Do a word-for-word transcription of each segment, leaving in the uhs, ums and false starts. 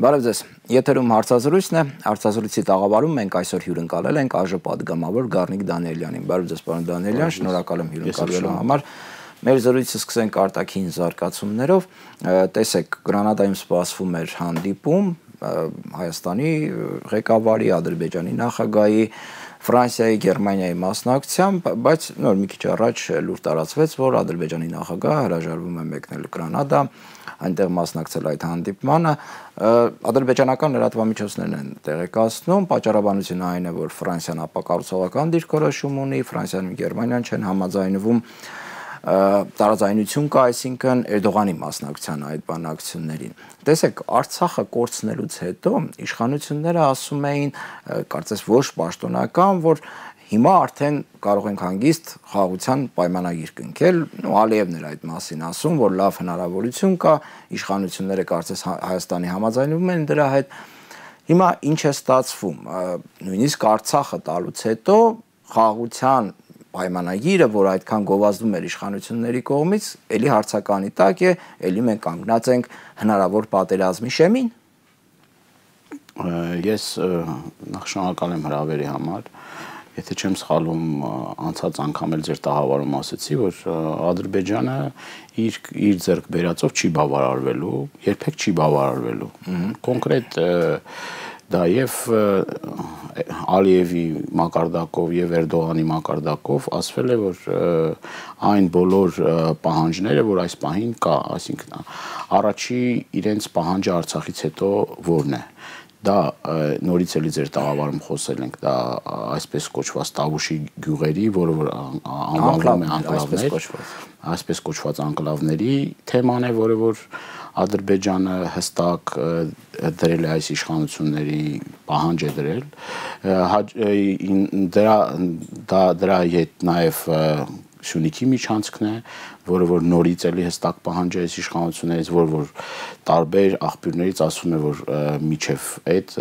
Բարև ձեզ, եթերում հարցազրույցն է, հարցազրույցի տաղավարում մենք այսօր հյուրընկալել ենք ԱԺ պատգամավոր Գառնիկ Դանիելյանին։ Բարև ձեզ, պարոն Դանիելյան, շնորհակալ եմ հյուրընկալվելու համար։ Մեր զրույցը սկսենք արտաքին զարգացումներով։ Տեսեք, Գրանադայում սպասվում էր հանդիպում Հայաստանի ղեկավարի, Ադրբեջանի նախագահի, Ֆրանսիայի, Գերմանիայի մասնակցությամբ, բայց նոր մի քիչ առաջ լուր տարածվեց, որ Ադրբեջանի նախագահը հրաժարվում է մեկնել Գրանադա, այնտեղ մասնակցել այդ հանդիպմանը։ Ադրբեջանական լրատվամիջոցներն են տեղեկացնում, պատճառաբանությունը այն է, որ Ֆրանսիան ապակառուցողական դիրքորոշում ունի, Ֆրանսիան ու Գերմանիան չեն համաձայնվում, տարաձայնություն կա, այսինքն Էրդողանի մասնակցության այդ բանակցություններին։ Տեսեք, Արցախը կորցնելուց հետո իշխանությունները ասում էին, կարծես ոչ պաշտոնական, որ հիմա արդեն կարող ենք հանգիստ խաղաղության պայմանագիր կնքել, ու Ալիևն էր այդ մասին ասում, որ լավ հնարավորություն կա, իշխանությունները կարծես Հայաստանի համաձայնվում են դրա հետ։ Հիմա ինչ է ստացվում, նույնիսկ Արցախը տալուց հետո խաղաղության պայմանագիրը, որ այդքան գովազդում էր իշխանությունների կողմից, էլի հարցականի տակ է, էլի մենք կանգնած ենք հնարավոր պատերազմի շեմին։ Ես նախ շնորհակալ եմ հրավերի համար, եթե չեմ սխալվում, անցած անգամ էլ ձեր տաղավարում ասացի, որ Ադրբեջանը իր իր ձեռք բերածով չի բավարարվելու, երբեք չի բավարարվելու։ Կոնկրետ դա եւ Ալիևի մակարդակով եւ Էրդողանի մակարդակով ասվել է, որ այն բոլոր պահանջները, որ այս պահին կա, այսինքն առաջի իրենց պահանջը Արցախից հետո որն է։ Դա նորից էլի ձեր տաղավարում խոսել ենք, դա այսպես կոչված Տավուշի գյուղերի, որը որ անվանվում է անկլավներ, այսպես կոչված անկլավների թեման է, որը որ Ադրբեջանը հստակ դրել է այս իշխանությունների պահանջ է դրել, դրա դրա հետ նաև Սյունիքի միջանցքն է, որը որ նորից էլի հստակ պահանջ է այս իշխանություններից, որ որ տարբեր աղբյուրներից ասում է, որ միջև այդ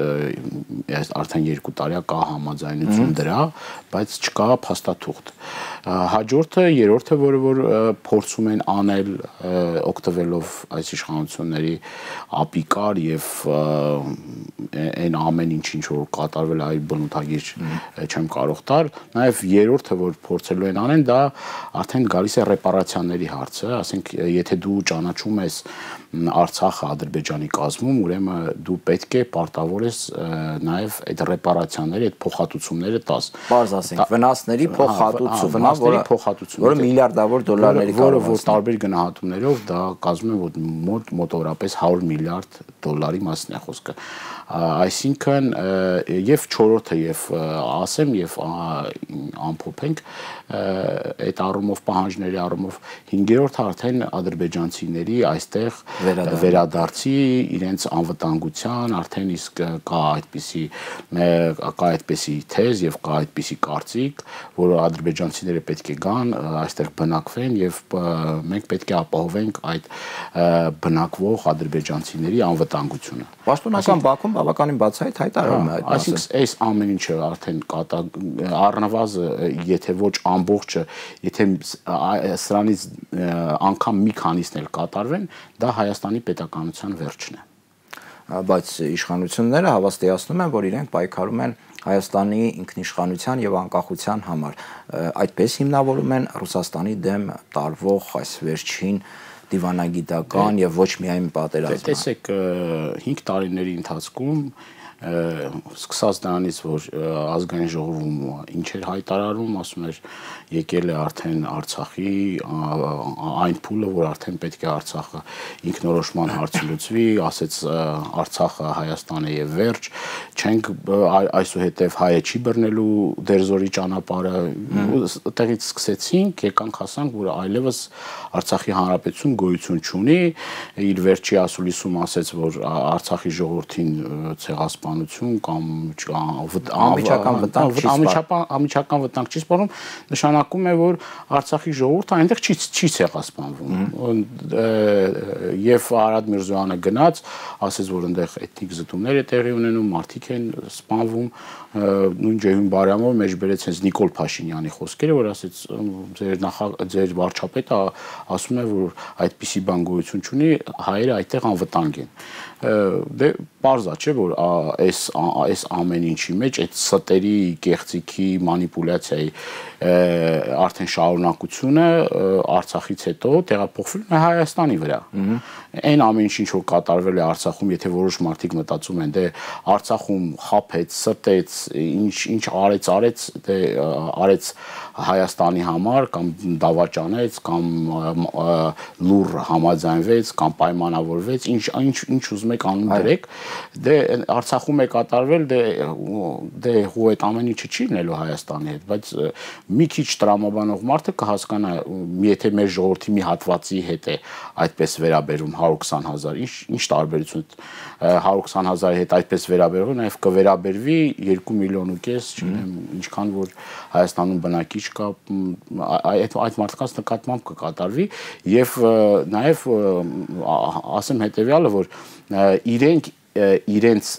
արդեն երկու տարի կա համաձայնություն դրա, բայց չկա փաստաթուղթ։ Հաջորդը, երրորդը, որը որ փորձում են անել օգտվելով այս իշխանությունների ապիկար եւ այն ամեն ինչ ինչ որ կատարվել է այդ բնութագիր չեմ կարող տալ, նաեւ երրորդը, որ փորձելու են անեն, դա արդեն գալիս է ռեպարացիաների հարցը, ասենք եթե դու ճանաչում ես Արցախը Ադրբեջանի կազմում, ուրեմն դու պետք է պարտավոր ես նաև այդ ռեպարացիաների, այդ փոխհատուցումները տաս։ Պարզ ասենք, վնասների փոխհատուցում, վնասների փոխհատուցում, որը միլիարդավոր դոլարների կարող է, որ տարբեր գնահատումներով դա կազմում է մոտ մոտավորապես հարյուր միլիարդ դոլարի մասն է խոսքը։ Այսինքն եւ չորրորդը եւ ասեմ եւ ամփոփենք այդ առումով պահանջների առումով հինգերորդը արդեն ադրբեջանցիների այստեղ վերադարձի իրենց անվտանգության արդեն իսկ կա այդպիսի կա այդպիսի թեզ եւ կա այդպիսի կարծիք, որ ադրբեջանցիները պետք է գան այստեղ բնակվեն եւ մենք պետք է ապահովենք այդ բնակվող ադրբեջանցիների անվտանգությունը։ Պաշտոնական Բաքուն բավականին բացահայտ հայտարարում է այդ մասը։ Այսինքն այս ամեն ինչը արդեն առնվազն եթե ոչ ամբողջը, եթե սրանից անգամ մի քանիսն էլ կատարվեն, դա Հայաստանի պետականության վերջն է։ Բայց իշխանությունները հավաստիացնում են, որ իրենք պայքարում են Հայաստանի ինքնիշխանության եւ անկախության համար։ Այդպես հիմնավորում են Ռուսաստանի դեմ տարվող այս վերջին դիվանագիտական եւ ոչ միայն պատերազմը։ Տեսեք, հինգ տարիների ընթացքում սկսած դրանից, որ ազգային ժողովում ինչ էր հայտարարում, ասում էր եկել է արդեն Արցախի այն փուլը, որ արդեն պետք է Արցախը ինքնորոշման հարցը լուծվի, ասեց Արցախը Հայաստան է եւ վերջ, չենք այսուհետեւ հայը չի բռնելու դերձորի ճանապարհը, այդտեղից սկսեցինք, եկանք հասանք, որ այլևս Արցախի հանրապետություն գոյություն չունի, իր վերջի ասուլիսում ասեց, որ Արցախի ժողովրդին ցեղասպան պաշտպանություն կամ անմիջական վտանգ չի սպառնում, անմիջական վտանգ չի սպառնում, նշանակում է, որ Արցախի ժողովուրդը այնտեղ չի չի ցեղասպանվում։ Եվ Արադ Միրզոյանը գնաց, ասեց, որ այնտեղ էթնիկ զտումներ է տեղի ունենում, մարդիկ են սպանվում, նույն Ջեյհուն Բարյամով մեջ բերեց հենց Նիկոլ Փաշինյանի խոսքերը, որ ասեց ձեր նախ ձեր վարչապետը ասում է, որ այդպիսի բան գոյություն չունի, հայերը այդտեղ անվտանգ են։ Դե պարզա չէ, որ այս այս ամեն ինչի մեջ այդ ստերի, կեղծիքի, մանիպուլյացիայի արդեն շարունակությունը Արցախից հետո տեղափոխվել է Հայաստանի վրա։ Այն ամեն ինչ որ կատարվել է Արցախում, եթե որոշ մարդիկ մտածում են, դե Արցախում խափեց, ստեց, ինչ ինչ արեց, արեց, դե արեց Հայաստանի համար կամ դավաճանեց, կամ լուր համաձայնվեց, կամ պայմանավորվեց, ինչ ինչ ինչ ուզում եք անում դրեք, դե Արցախում է կատարվել, դե դե հու այդ ամեն ինչը չի լինելու Հայաստանի հետ, բայց մի քիչ տրամաբանող մարդը կհասկանա, եթե մեր ժողովրդի մի հատվածի հետ է այդպես վերաբերում հարյուր քսան հազար, ինչ ինչ տարբերություն հարյուր քսան հազարի հետ այդպես վերաբերվում, նաև կվերաբերվի երկու միլիոն ու կես, չգիտեմ, ինչքան որ Հայաստանում բնակիչ կա, այդ այդ մարդկանց նկատմամբ կկատարվի եւ նաև ասեմ հետեւյալը, որ իրենք իրենց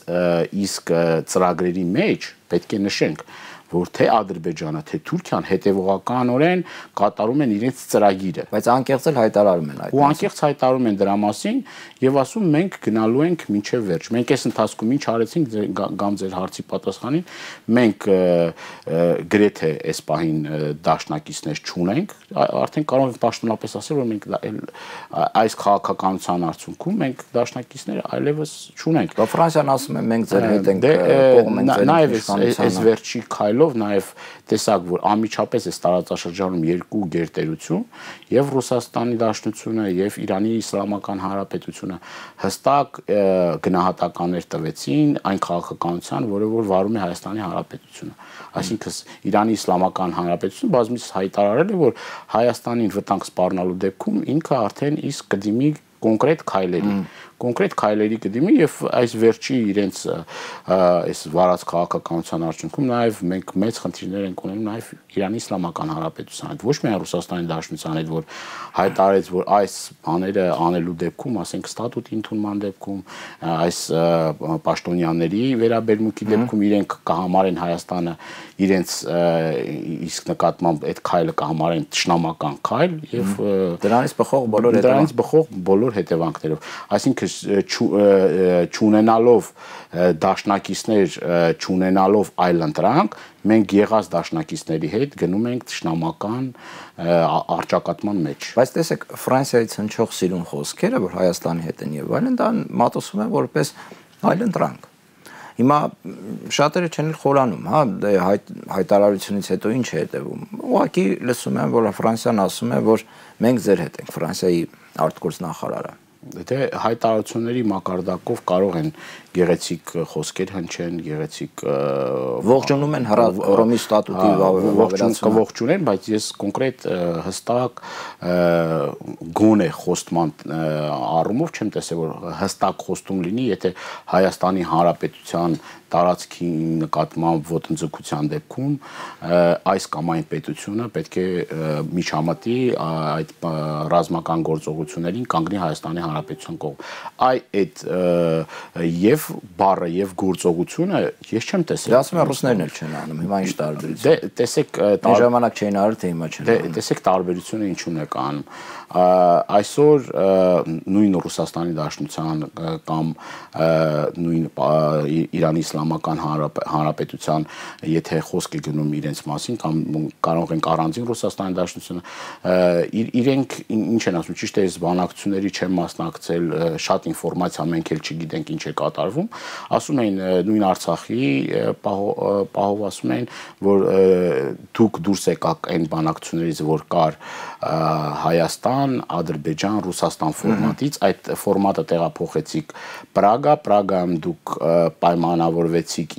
իսկ ծրագրերի մեջ պետք է նշենք, որ թե Ադրբեջանը, թե Թուրքիան հետևողականորեն կատարում են իրենց ծրագիրը, բայց անկեղծ էլ հայտարարում են այդ։ Ու անկեղծ հայտարարում են դրա մասին եւ ասում մենք գնալու ենք մինչեւ վերջ։ Մենք այս ընթացքում ինչ արեցինք կամ ձեր հարցի պատասխանին, մենք գրեթե այս պահին դաշնակիցներ չունենք, արդեն կարող ենք պաշտոնապես ասել, որ մենք այս քաղաքականության արդյունքում մենք դաշնակիցներ այլևս չունենք։ Ֆրանսիան ասում է մենք ձեր հետ ենք կողմ ենք ձեր իշխանության։ Այս վերջի քայլով նաև տեսակ, որ անմիջապես է տարածաշրջանում երկու գերտերություն, եւ Ռուսաստանի Դաշնությունը եւ Իրանի Իսլամական Հանրապետությունը հստակ գնահատականներ տվեցին այն քաղաքականության, որը որ վարում է Հայաստանի Հանրապետությունը։ Այսինքն Իրանի Իսլամական Հանրապետությունը բազմիցս հայտարարել է, որ Հայաստանին վտանգ սպառնալու դեպքում ինքը արդեն իսկ կդիմի կոնկրետ քայլերի կոնկրետ քայլերի կդիմի եւ այս վերջի իրենց այս վարած քաղաքականության արդյունքում նաեւ մենք մեծ խնդիրներ ենք ունենում նաեւ Իրանի Իսլամական Հանրապետության հետ, ոչ միայն Ռուսաստանի Դաշնության հետ, որ հայտարարեց, որ այս բաները անելու դեպքում, ասենք ստատուտի ընդունման դեպքում, այս պաշտոնյաների վերաբերմունքի դեպքում իրենք կհամարեն Հայաստանը իրենց իսկ նկատմամբ այդ քայլը կհամարեն ճշնամական քայլ եւ դրանից բխող բոլոր դրանից բխող բոլոր հետևանքներով, այսինքն չունենալով դաշնակիցներ, չունենալով այլ ընտրանք, մենք եղած դաշնակիցների հետ գնում ենք ճշնամական արճակատման մեջ։ Բայց տեսեք, Ֆրանսիայից հնչող սիրուն խոսքերը, որ Հայաստանի հետ են եւ այլն, դա մատուցվում է որպես այլ ընտրանք։ Հիմա շատերը չեն խորանում, հա, դե հայտարարությունից հետո ինչ է հետևում։ Ուղղակի լսում են, որ Ֆրանսիան ասում է, որ մենք ձեր հետ ենք, Ֆրանսիայի արտգործնախարարը։ Դե հայտարարությունների մակարդակով կարող են գեղեցիկ խոսքեր հնչեն, գեղեցիկ ողջունում են Հռոմի ստատուտի վավերացումը, ողջունեն, բայց ես կոնկրետ հստակ գոնե խոստման առումով չեմ տեսել, որ հստակ խոստում լինի, եթե Հայաստանի Հանրապետության տարածքի նկատմամբ ոտնձգության դեպքում այս կամ այն պետությունը պետք է միջամտի այդ ռազմական գործողություններին կանգնի Հայաստանի Հանրապետության կողմ։ Այ այդ եւ բառը եւ գործողությունը ես չեմ տեսել։ Դա ասում են ռուսներն էլ չեն անում, հիմա ինչ տարբերություն։ Դե տեսեք, այն ժամանակ չէին արել, թե հիմա չեն անում։ Դե տեսեք տարբերությունը ինչու՞ն է կանում։ Այսօր նույն Ռուսաստանի Դաշնության կամ նույն Իրանի Իսլամական Հանրապետության, եթե խոսք է գնում իրենց մասին կամ կարող ենք առանձին Ռուսաստանի Դաշնությունը, իրենք ինչ են ասում, ճիշտ է, այս բանակցությունների չեն մասնակցել, շատ ինֆորմացիա մենք էլ չգիտենք ինչ է կատարվում, ասում են նույն Արցախի պահով ասում են, որ դուք դուրս եկաք այն բանակցություններից, որ կար Հայաստան, Ադրբեջան, Ռուսաստան ֆորմատից, այդ ֆորմատը տեղափոխեցիք Պրագա, Պրագայում դուք պայմանավորվեցիք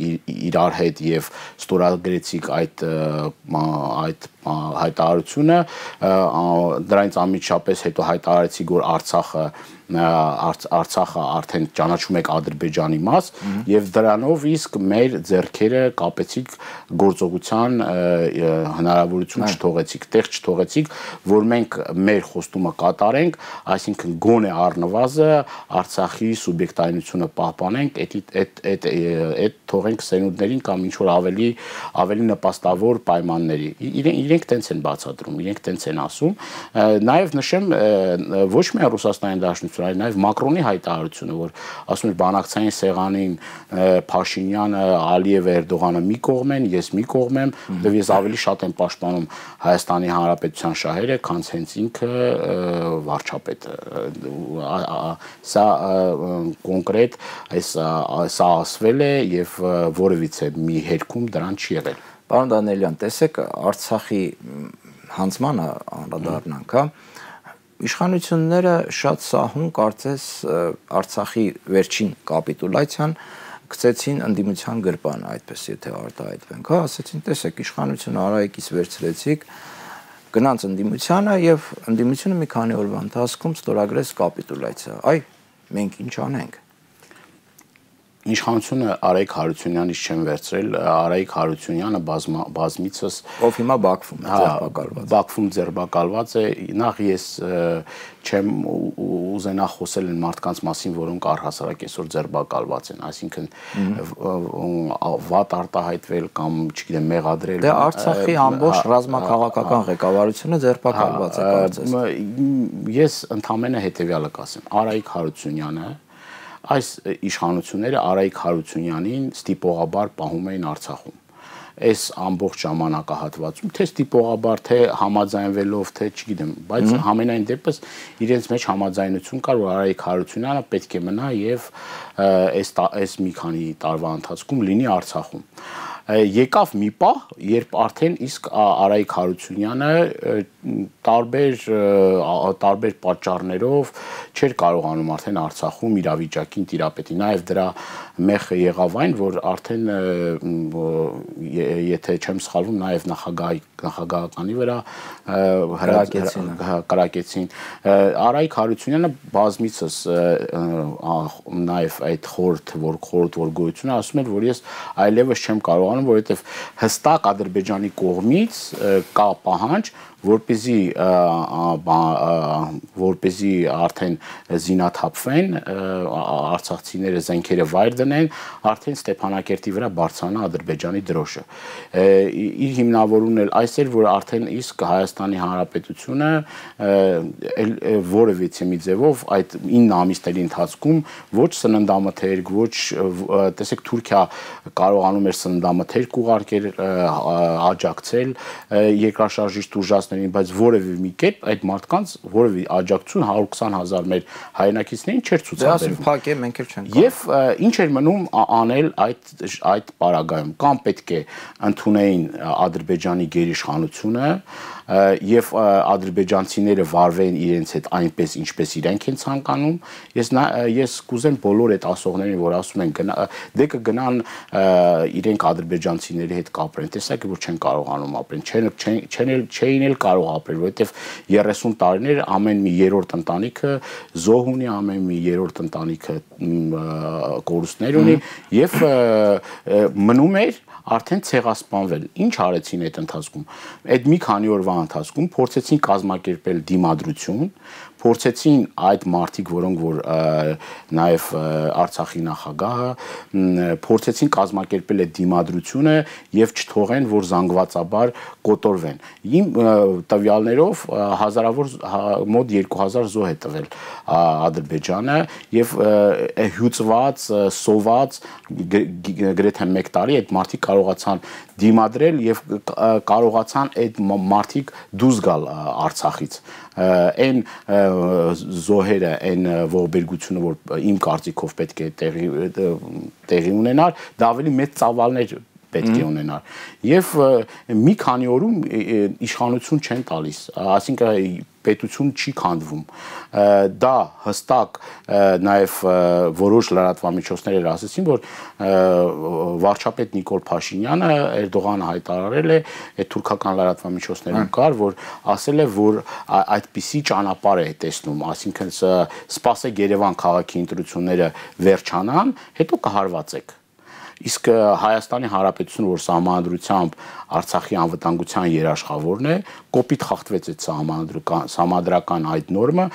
իրար հետ եւ ստորագրեցիք այդ այդ հայտարարությունը, դրանից անմիջապես հետո հայտարարեցի, որ Արցախը Արցախը արդեն ճանաչում եք Ադրբեջանի մաս եւ դրանով իսկ մեր ձեռքերը կապեցիք գործողության հնարավորություն չթողեցիք, տեղ չթողեցիք, որ մենք մեր խոստումը կատարենք, այսինքն գոնե առնվազը Արցախի սուբյեկտայնությունը պահպանենք, այդ այդ այդ թողենք սերունդներին կամ ինչ որ ավելի ավելի նպաստավոր պայմանների։ Իրենք տենց են բացատրում, իրենք տենց են ասում։ Նաեւ նշեմ ոչ միայն Ռուսաստանի Դաշնություն, այլ նաև Մակրոնի հայտարարությունը, որ ասում էր բանակցային սեղանին Փաշինյանը, Ալիևը, Էրդողանը մի կողմ են, ես մի կողմ եմ, եւ ես ավելի շատ եմ պաշտպանում Հայաստանի Հանրապետության շահերը, քան հենց ինքը վարչապետը։ Սա կոնկրետ այս սա ասվել է եւ որևիցե մի հերքում դրան չի եղել։ Պարոն Դանիելյան, տեսեք Արցախի հանձնմանը անդրադառնանք, հա։ Իշխանությունները շատ սահուն կարծես Արցախի վերջին կապիտուլյացիան գցեցին ընդդիմության գրպան, այդպես եթե արտահայտվենք, հա, ասեցին, տեսեք, իշխանությունը Արայիկից վերցրեցիք, գնաց ընդդիմությանը եւ ընդդիմությունը մի քանի օրվա ընթացքում ստորագրեց կապիտուլյացիա։ Այ մենք ինչ անենք։ Իշխանությունը Արայիկ Հարությունյանից չեն վերցրել, Արայիկ Հարությունյանը բազմիցս ով հիմա Բաքվում է ձերբակալված։ Բաքվում ձերբակալված է, նախ ես չեմ ուզենա խոսել են մարդկանց մասին, որոնք առհասարակ այսօր ձերբակալված են, այսինքն վատ արտահայտվել կամ, չգիտեմ, մեղադրել։ Դե Արցախի ամբողջ ռազմաքաղաքական ղեկավարությունը ձերբակալված է կարծես։ Ես ընդամենը հետեւյալը կասեմ, Արայիկ Հարությունյանը այս իշխանությունները Արայիկ Հարությունյանին ստիպողաբար պահում էին Արցախում։ Այս ամբողջ ժամանակահատվածում թե ստիպողաբար, թե համաձայնվելով, թե չգիտեմ, բայց համենայն դեպս իրենց մեջ համաձայնություն կար, որ Արայիկ Հարությունյանը պետք է մնա եւ այս այս մի քանի տարվա ընթացքում լինի Արցախում։ Եկավ մի պահ, երբ արդեն իսկ Արայիկ Հարությունյանը տարբեր տարբեր պատճառներով չէր կարողանում արդեն Արցախում իրավիճակին տիրապետի։ Նաև դրա մեխը եղավ այն, որ արդեն եթե չեմ սխալվում, նաև նախագահի նախագահականի վրա կրակեցին։ Արայիկ Հարությունյանը բազմիցս նաև այդ խորհուրդ, որ խորհուրդ որ գոյությունը ասում էր, որ ես այլևս չեմ կարողանում, որովհետև հստակ Ադրբեջանի կողմից կա պահանջ, որպեսզի որպեսզի արդեն զինաթափվեն, արցախցիները զենքերը վայր դնեն, արդեն Ստեփանակերտի վրա բարձրանա Ադրբեջանի դրոշը։ Իր հիմնավորումն էլ այս էր, որ արդեն իսկ Հայաստանի Հանրապետությունը որևիցե մի ձևով այդ ինը ամիսների ընթացքում ոչ սննդամթերք, ոչ տեսեք Թուրքիա կարողանում էր սննդամթերք ուղարկել, աջակցել երկրաշարժիչ տուժածներին, բայց որևէ մի կերպ այդ մարդկանց որևէ աջակցություն հարյուր քսան հազար մեր հայրենակիցներին չէր ցուցաբերվում։ Դե ասում փակ է, մենք էլ չենք։ Եվ ինչ էր մնում անել այդ այդ պարագայում, կամ պետք է ընդունեին Ադրբեջանի գերիշխանությունը եւ ադրբեջանցիները վարվեն իրենց հետ այնպես ինչպես իրենք են ցանկանում։ Ես ես կուզեմ բոլոր այդ ասողներին, որ ասում են դե կգնան իրենք ադրբեջանցիների հետ կապրեն, տեսակ որ չեն կարողանում ապրեն, չեն չեն չէին էլ կարող ապրել, որովհետեւ երեսուն տարիներ ամեն մի երրորդ ընտանիքը զոհ ունի, ամեն մի երրորդ ընտանիքը կորուստներ ունի եւ մնում էր արդեն ցեղասպանվել։ Ինչ արեցին այդ ընթացքում։ Այդ մի քանի օրվա ընթացքում փորձեցին կազմակերպել դիմադրություն, փորձեցին այդ մարդիկ, որոնք որ նաև Արցախի նախագահը փորձեցին կազմակերպել այդ դիմադրությունը եւ չթողեն, որ զանգվածաբար կոտորվեն։ Իմ տվյալներով հազարավոր մոտ երկու հազար զոհ է տվել Ադրբեջանը եւ հյուծված, սոված գրեթե մեկ տարի այդ մարդիկ կարողացան դիմադրել եւ կարողացան այդ մարդիկ դուրս գալ Արցախից։ Այն զոհերը, այն ողբերգությունը, որ իմ կարծիքով պետք է տեղի տեղի ունենար, դա ավելի մեծ ծավալներ պետք է ունենալ։ Եվ մի քանի օրում իշխանություն չեն տալիս, այսինքն պետություն չի քանդվում։ Դա հստակ նաև որոշ լրատվամիջոցներ էր ասեցին, որ վարչապետ Նիկոլ Փաշինյանը Էրդողանը հայտարարել է, այդ թուրքական լրատվամիջոցներում կար, որ ասել է, որ այդպիսի ճանապարհ է տեսնում, այսինքն սպասեք Երևան քաղաքի ընտրությունները վերջանան, հետո կհարվածեք։ Իսկ Հայաստանի Հանրապետությունը, որ սահմանադրությամբ Արցախի անվտանգության երաշխավորն է, կոպիտ խախտվեց այդ սահմանադրական այդ նորմը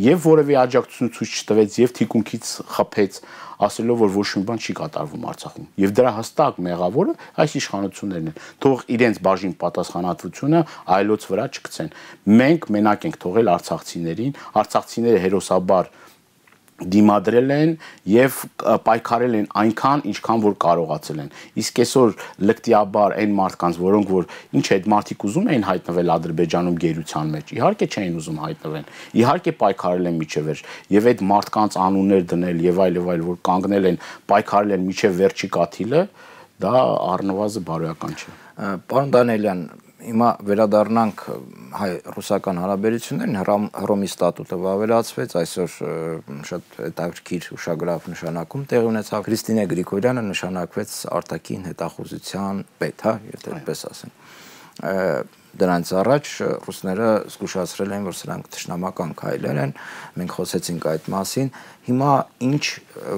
եւ որևէ աջակցություն ցույց չտվեց եւ թիկունքից խփեց, ասելով, որ ոչ մի բան չի կատարվում Արցախում։ Եվ դրա հստակ մեղավորը այս իշխանություններն են։ Թող իրենց բաժին պատասխանատվությունը այլոց վրա չգցեն։ Մենք մենակ ենք թողել արցախցիներին, արցախցիները հերոսաբար դիմադրել են եւ պայքարել են այնքան, ինչքան որ կարողացել են։ Իսկ այսօր լկտիաբար այն մարդկանց, որոնք որ ինչ այդ մարդիկ ուզում էին հայտնվել Ադրբեջանում գերության մեջ, իհարկե չէին ուզում հայտնվեն։ Իհարկե պայքարել են միջև վերջ եւ այդ մարդկանց անուններ դնել եւ այլ եւ այլ, որ կանգնել են, պայքարել են միջև վերջի կաթիլը, դա առնվազն բարոյական չէ։ Պարոն Դանիելյան, հիմա վերադառնանք հայ-ռուսական հարաբերություններին, Հռոմի ստատուտը վավերացվեց, այսօր շատ հետաքրքիր ուշագրավ նշանակում տեղի ունեցավ, Քրիստինե Գրիգորյանը նշանակվեց արտաքին հետախուզության պետ, հա, եթե այդպես ասեմ։ Դրանից առաջ ռուսները զգուշացրել են, որ սրանք թշնամական քայլեր են, մենք խոսեցինք այդ մասին, հիմա ինչ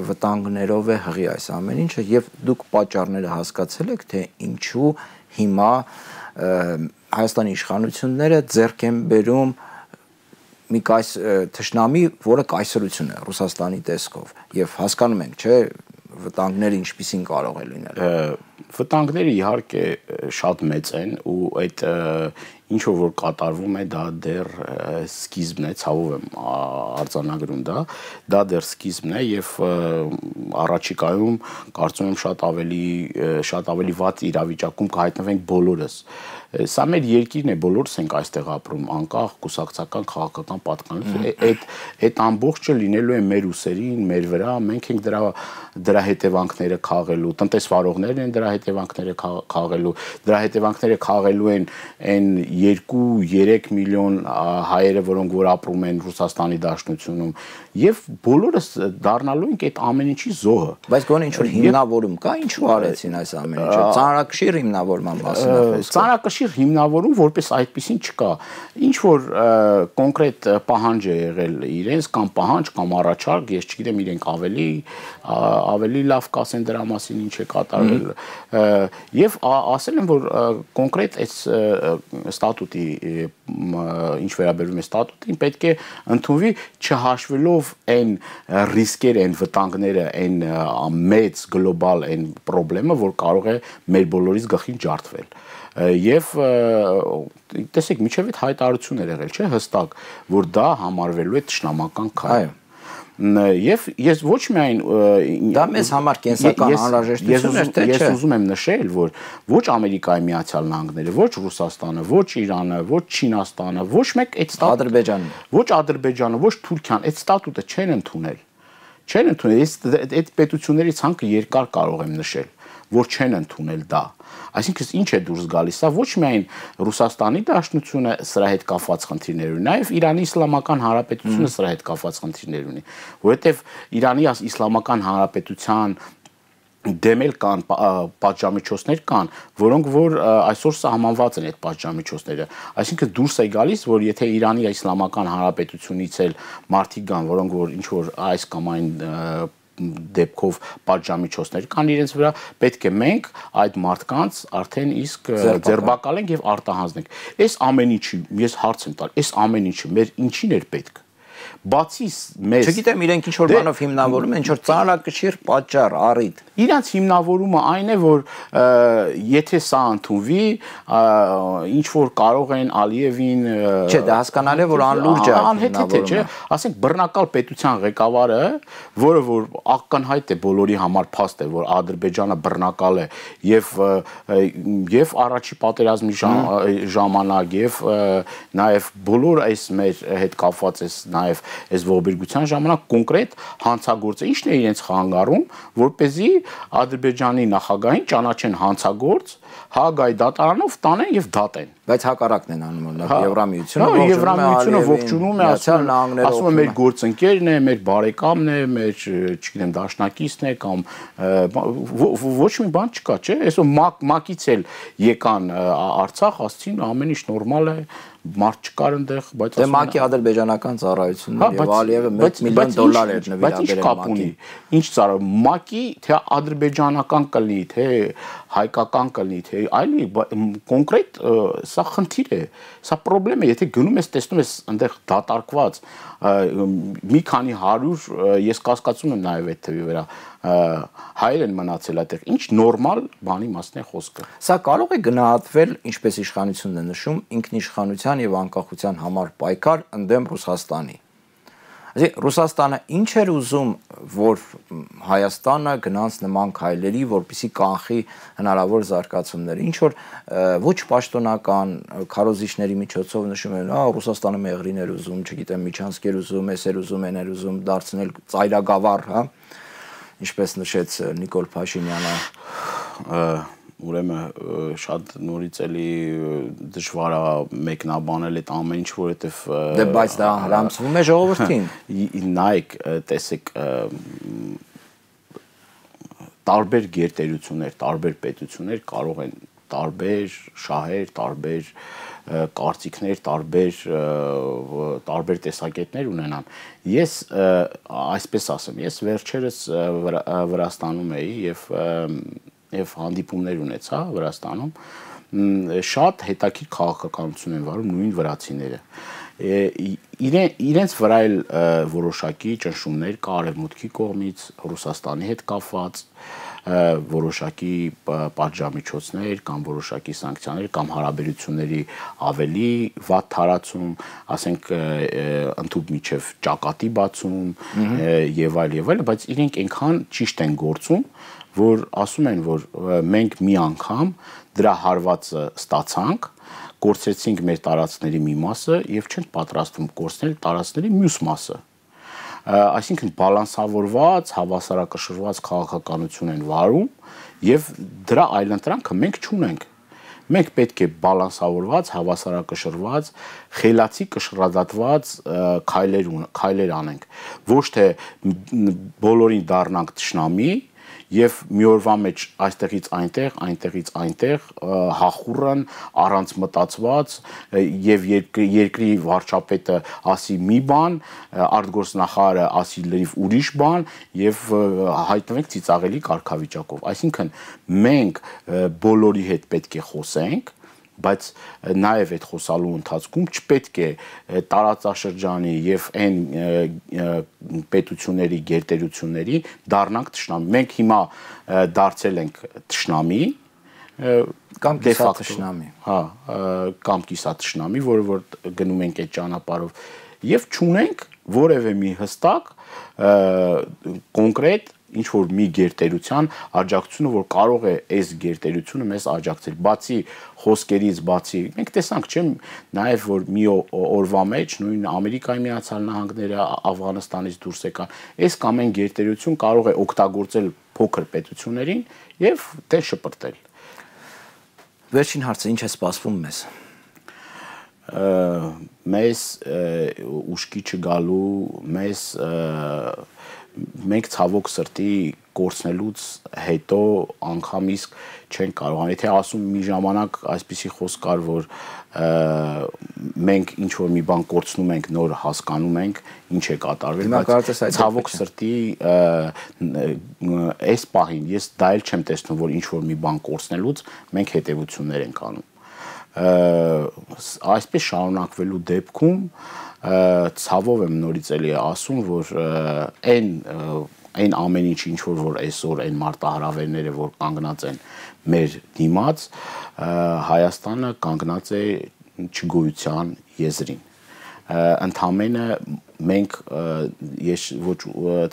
վտանգներով է հղի այս ամեն ինչը եւ դուք պատճառները հասկացել եք, թե ինչու հիմա Հայաստանի իշխանությունները ձեռք են բերում մի կայս թշնամի, որը կայսրություն է Ռուսաստանի տեսքով եւ հասկանում ենք, չէ, վտանգները ինչպիսին կարող է լինել։ Վտանգները իհարկե շատ մեծ են ու այդ ինչ որ կատարվում է դա դեռ սկիզբն է, ցավով եմ արձանագրում դա, դա դեռ սկիզբն է եւ առաջիկայում կարծում եմ շատ ավելի շատ ավելի վատ իրավիճակում կհայտնվենք բոլորս։ Սա մեր երկիրն է, բոլորս ենք այստեղ ապրում, անկախ կուսակցական քաղաքական պատկանելուց, այդ այդ ամբողջը լինելու է մեր ուսերին, մեր վրա, մենք ենք դրա դրա հետևանքները քաղելու, տնտեսվարողներն են դրա հետևանքները քաղելու, դրա հետևանքները քաղելու են այն երկու երեք միլիոն հայերը, որոնք որ ապրում են Ռուսաստանի Դաշնությունում, եւ բոլորս դառնալու ենք այդ ամեն ինչի զոհը։ Բայց գոնե ինչ որ հիմնավորում կա, ինչու արեցին այս ամեն ինչը։ Ծանրակշիռ հիմնավորման մասին է խոսքը։ Ծանրակշիռ հիմնավորում որպես այդպեսին չկա։ Ինչ որ կոնկրետ պահանջ է եղել իրենց կամ պահանջ կամ առաջարկ, ես չգիտեմ իրենք ավելի ավելի լավ կասեն դրա մասին ինչ է կատարվել եւ ասել են որ կոնկրետ այս ստատուտի ինչ վերաբերում է ստատուտին պետք է ընդունվի չհաշվելով այն ռիսկերը, այն վտանգները, այն մեծ գլոբալ այն խնդրումը, որ կարող է մեր բոլորիս գլխին ջարդվել։ Եվ տեսեք, միջև այդ հայտարարություն էր եղել, չէ՞, հստակ, որ դա համարվելու է թշնամական քայլ։ Եվ ես ոչ միայն դա մեզ համար կենսական անհրաժեշտություն էր, թե չէ։ Ես ուզում եմ նշել, որ ոչ Ամերիկայի Միացյալ Նահանգները, ոչ Ռուսաստանը, ոչ Իրանը, ոչ Չինաստանը, ոչ մեկ այդ Ադրբեջանը, ոչ Ադրբեջանը, ոչ Թուրքիան այդ ստատուտը չեն ընդունել։ Չեն ընդունել, ես այդ պետությունների ցանկը երկար կարող եմ նշել, որ չեն ընդունել դա։ Այսինքն ինչ է դուրս գալիս, սա ոչ միայն Ռուսաստանի Դաշնությունը սրա հետ կապված խնդիրներ ունի, նաև Իրանի Իսլամական Հանրապետությունը սրա հետ կապված խնդիրներ ունի, որովհետև Իրանի Իսլամական Հանրապետության դեմ էլ կան պատժամիջոցներ կան, որոնք որ այսօր սահմանված են այդ պատժամիջոցները։ Այսինքն դուրս է գալիս, որ եթե Իրանի Իսլամական Հանրապետությունից էլ մարդիկ կան, որոնք որ ինչ որ այս կամ այն դեպքով պատժամիջոցներ կան իրենց վրա, պետք է մենք այդ մարդկանց արդեն իսկ ձերբակալենք եւ արտահանենք։ Այս ամեն ինչի ես հարց եմ տալ, այս ամեն ինչը մեր ինչին էր պետք։ Բացի մեզ չգիտեմ իրենք ինչ որ բանով հիմնավորում են, ինչ որ ծանրակշիռ պատճառ, առիթ։ Իրանց հիմնավորումը այն է, որ եթե սա ընդունվի, ինչ որ կարող են Ալիևին Չէ, դա հասկանալի է, որ անլուրջ է անհեթեթ է, չէ, ասենք բռնակալ պետության ղեկավարը, որը որ ակնհայտ է բոլորի համար փաստ է, որ Ադրբեջանը բռնակալ է եւ եւ առաջի պատերազմի ժամանակ եւ նաեւ բոլոր այս մեր հետ կապված էս նաեւ նաև այս ողբերգության ժամանակ կոնկրետ հանցագործը ինչն է իրենց խանգարում, որպեսզի Ադրբեջանի նախագահին ճանաչեն հանցագործ, Հաագայի դատարանով տանեն եւ դատեն։ Բայց հակառակն են անում, Եվրամիությունը Եվրամիությունը ողջունում է, ասում է մեր գործընկերն է, մեր բարեկամն է, մեր, չգիտեմ, դաշնակիցն է կամ ոչ մի բան չկա, չէ՞։ Այսօր ՄԱԿ-ից էլ եկան Արցախ, ասցին ամեն ինչ նորմալ է, մարդ չկար այնտեղ, բայց դե ՄԱԿ-ի ադրբեջանական ծառայությունն եւ Ալիևը մեկ միլիոն դոլար էր նվիրաբերել ՄԱԿ-ին։ Ինչ ծառա ՄԱԿ-ի թե ադրբեջանական կլինի, թե հայկական կլինի, թե այլի կոնկրետ սա խնդիր է, սա խնդրեմ է, եթե գնում ես տեսնում ես այնտեղ դատարկված մի քանի հարյուր, ես կասկածում եմ նաև այդ թվի վրա հայեր են մնացել այդտեղ, ինչ նորմալ բանի մասն է խոսքը։ Սա կարող է գնահատվել, ինչպես իշխանությունն է նշում, ինքնիշխանության եւ անկախության համար պայքար ընդդեմ Ռուսաստանի։ Այսինքն Ռուսաստանը ինչ էր ուզում, որ Հայաստանը գնաց նման քայլերի, որպեսզի կանխի հնարավոր զարգացումները, ինչ որ ոչ պաշտոնական քարոզիչների միջոցով նշում են, հա, Ռուսաստանը մեղրին էր ուզում, չգիտեմ, Միչանսկ էր ուզում, էս էր ուզում, այն էր ուզում դարձնել ծայրագավառ, հա, ինչպես նշեց Նիկոլ Փաշինյանը։ Ուրեմն շատ նորից էլի դժվար է մեկնաբանել այդ ամեն ինչ, որովհետև դե բայց դա հրամցվում է ժողովրդին։ Նայեք, տեսեք, տարբեր գերտերություններ, տարբեր պետություններ կարող են տարբեր շահեր, տարբեր կարծիքներ, տարբեր տարբեր տեսակետներ ունենան։ Ես այսպես ասեմ, ես վերջերս Վրաստանում էի եւ եւ հանդիպումներ ունեցա Վրաստանում, շատ հետաքրքիր քաղաքականություն են վարում նույն վրացիները։ Իրենց վրա էլ որոշակի ճնշումներ կա արևմուտքի կողմից, Ռուսաստանի հետ կապված, որոշակի պատժամիջոցներ կամ որոշակի սանկցիաներ կամ հարաբերությունների ավելի վատ թարացում, ասենք ընդհանուր միջև ճակատի բացում եւ այլ եւ այլ, բայց իրենք այնքան ճիշտ են գործում, որ ասում են, որ մենք մի անգամ դրա հարվածը ստացանք, կորցրեցինք մեր տարածքների մի մասը եւ չենք պատրաստվում կորցնել տարածքների մյուս մասը։ Այսինքն բալանսավորված, հավասարակշռված քաղաքականություն են վարում եւ դրա այլընտրանքը մենք չունենք։ Մենք պետք է բալանսավորված, հավասարակշռված, խելացի կշռադատված քայլեր քայլեր անենք, ոչ թե բոլորին դառնանք թշնամի եւ մի օրվա մեջ այստեղից այնտեղ, այնտեղից այնտեղ հախուռն առանց մտածված եւ երկրի վարչապետը ասի մի բան, արտգործնախարարը ասի լրիվ ուրիշ բան եւ հայտնվենք ծիծաղելի կարգավիճակով։ Այսինքն մենք բոլորի հետ պետք է խոսենք, բայց նաև այդ խոսալու ընթացքում չպետք է տարածաշրջանի եւ այն պետությունների գերտերությունների դառնանք թշնամի։ Մենք հիմա դարձել ենք թշնամի կամ կիսաթշնամի, հա, կամ կիսաթշնամի, որը որ գնում ենք այդ ճանապարհով եւ չունենք որևէ մի հստակ կոնկրետ ինչ որ մի գերտերության աջակցությունը, որ կարող է այս գերտերությունը մեզ աջակցել, բացի խոսքերից, բացի մենք տեսանք, չէ՞, նաև որ մի օրվա մեջ նույն Ամերիկայի Միացյալ Նահանգները Աֆղանստանից դուրս եկան, այս կամ այն գերտերություն կարող է օգտագործել փոքր պետություններին եւ դե շպրտել։ Վերջին հարցը, ինչ է սպասվում մեզ։ Մեզ ուշքի չգալու, մեզ մենք ցավոք սրտի կորցնելուց հետո անգամ իսկ չենք կարողանում, եթե ասում մի ժամանակ այսպիսի խոսք կար, որ մենք ինչ որ մի բան կորցնում ենք, նոր հասկանում ենք, ինչ է կատարվել, բայց ցավոք սրտի այս պահին ես դա էլ չեմ տեսնում, որ ինչ որ մի բան կորցնելուց մենք հետևություններ ենք անում։ Այսպես շարունակվելու դեպքում ցավով եմ նորից էլի ասում, որ այն այն ամեն ինչ ինչ որ որ այսօր այն մարտահրավերները որ կանգնած են մեր դիմաց, Հայաստանը կանգնած է չգոյության եզրին։ ընդամենը մենք ես ոչ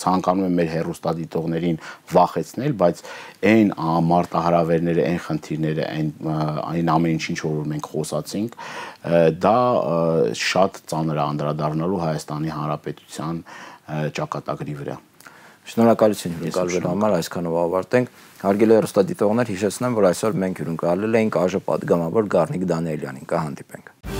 ցանկանում եմ մեր հեռուստադիտողներին վախեցնել, բայց այն մարտահրավերները, այն խնդիրները, այն այն ամեն ինչ որ մենք խոսացինք, դա շատ ծանր է անդրադառնալու Հայաստանի Հանրապետության ճակատագրի վրա։ Շնորհակալություն հյուրընկալվելու համար, այսքանով ավարտենք։ Հարգելի հեռուստադիտողներ, հիշեցնեմ, որ այսօր մենք հյուրընկալել էինք ԱԺ պատգամավոր Գառնիկ Դանիելյանին։ Կհանդիպենք։